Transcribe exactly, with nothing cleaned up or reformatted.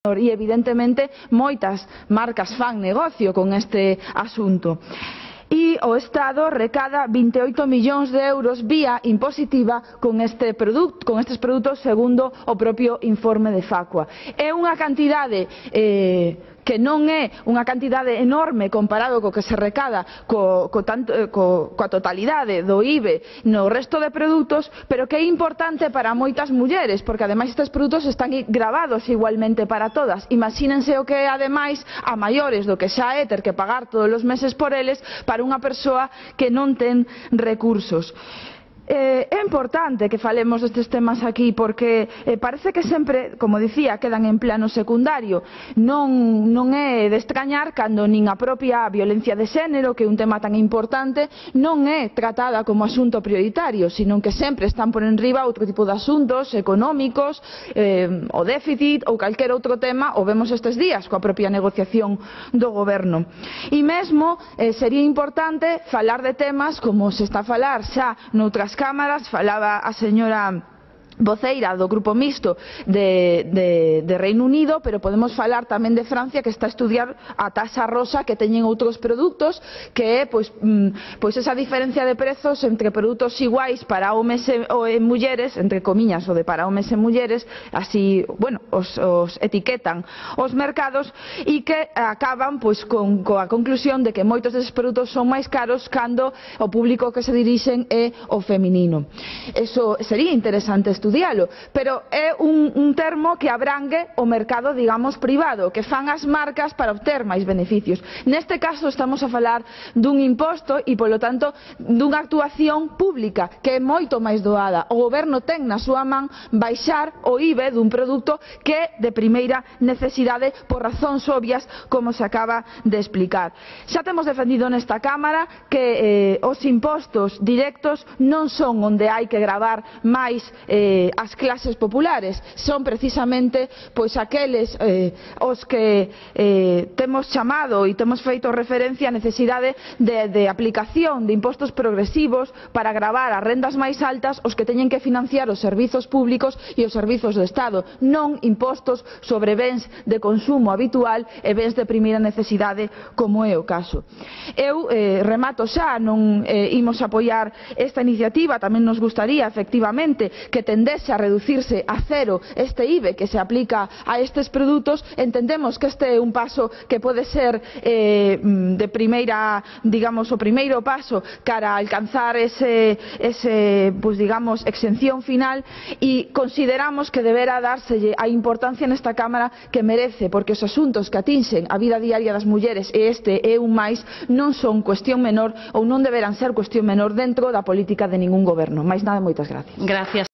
E evidentemente moitas marcas fan negocio con este asunto. E o Estado recada vinte e oito millóns de euros vía impositiva con, este produto, con estes produtos segundo o propio informe de Facua. É unha cantidade eh, que non é unha cantidade enorme comparado co que se recada co, co tanto, co, coa totalidade do I V E no resto de produtos, pero que é importante para moitas mulleres, porque ademais estes produtos están gravados igualmente para todas. Imagínense o que é ademais a maiores do que xa é ter que pagar todos os meses por eles para unha persoa que non ten recursos. Eh, é importante que falemos destes temas aquí porque eh, parece que sempre, como dicía, quedan en plano secundario. Non, non é de extrañar cando nin a propia violencia de xénero, que é un tema tan importante, non é tratada como asunto prioritario, sino que sempre están por enriba outro tipo de asuntos económicos, eh, o déficit ou calquer outro tema, o vemos estes días coa propia negociación do goberno. E mesmo eh, sería importante falar de temas como se está a falar xa noutras cámaras, falaba a señora voceira do Grupo Mixto de, de, de Reino Unido, pero podemos falar tamén de Francia, que está a estudiar a taxa rosa que teñen outros produtos, que é pois, pois esa diferencia de prezos entre produtos iguais para homes e, ou e mulleres, entre comiñas o de para homes e mulleres, así, bueno, os, os etiquetan os mercados, e que acaban pois con coa conclusión de que moitos deses produtos son máis caros cando o público que se dirixen é o feminino. Eso sería interesante estudiar, pero é un, un termo que abrangue o mercado, digamos, privado, que fan as marcas para obter máis beneficios. Neste caso estamos a falar dun imposto e, polo tanto, dunha actuación pública que é moito máis doada. O goberno ten na súa man baixar o I V E dun produto que é de primeira necesidade por razóns obvias, como se acaba de explicar. Xa temos defendido nesta Cámara que eh, os impostos directos non son onde hai que gravar máis eh, as clases populares, son precisamente pois aqueles eh, os que eh, temos chamado e temos feito referencia a necesidade de, de aplicación de impostos progresivos para gravar as rendas máis altas os que teñen que financiar os servizos públicos e os servizos do Estado, non impostos sobre bens de consumo habitual e bens de primeira necesidade como é o caso. Eu eh, remato xa, non eh, imos apoiar esta iniciativa, tamén nos gustaría efectivamente que tendese a reducirse a cero este I V E que se aplica a estes produtos. Entendemos que este é un paso que pode ser eh, de primeira, digamos, o primeiro paso cara a alcanzar ese, ese pues, digamos, exención final, e consideramos que deberá dárselle a importancia nesta Cámara que merece, porque os asuntos que atinxen a vida diaria das mulleres, e este é un máis, non son cuestión menor ou non deberán ser cuestión menor dentro da política de ningún goberno. Mais nada, moitas gracias. Gracias.